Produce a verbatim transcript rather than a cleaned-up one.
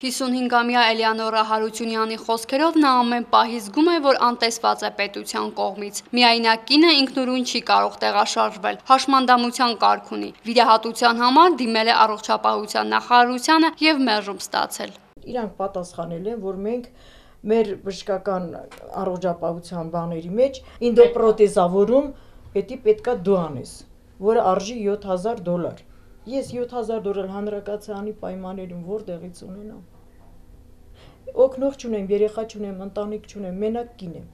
հիսունհինգամյա Էլեոնորա Հարությունյանի խոսքերով նա ամեն պահի զգում է, որ անտեսված է պետության կողմից։ Միայնակ կինը ինքնուրույն չի կարող տեղաշարժվել, հաշմանդամության կարգ ունի։ Վիրահատության համար դիմել է առողջապահության նախարարությանը եւ մերժում ստացել։ Իրանք պատասխանել են, որ մենք մեր բժշկական առողջապահության բաների մեջ ինդոպրոթեզավորում պետք պետքա դու անես, որը արժի յոթ հազար դոլար։ Ես յոթ հազար դոլար հանրակացարանի պայմաններում որտեղից ունենամ։ Օգնող չունեմ, երեխա չունեմ, ընտանիք չունեմ, մենակ կին եմ։